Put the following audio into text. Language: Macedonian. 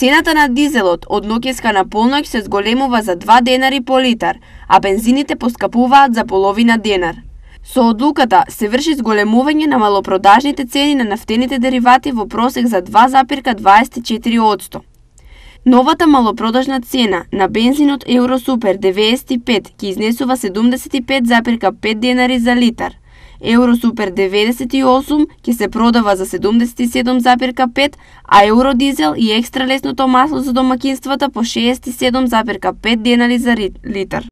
Цената на дизелот од ноќеска на полноќ се зголемува за 2 денари по литар, а бензините поскапуваат за половина денар. Со одлуката се врши зголемување на малопродажните цени на нафтените деривати во просек за 2,24%. Новата малопродажна цена на бензинот Евросупер 95 ќе изнесува 75,5 денари за литар. Евросупер 98 ќе се продава за 77,5, а Евродизел и екстра лесното масло за домаќинствата по 67,5 денари за литар.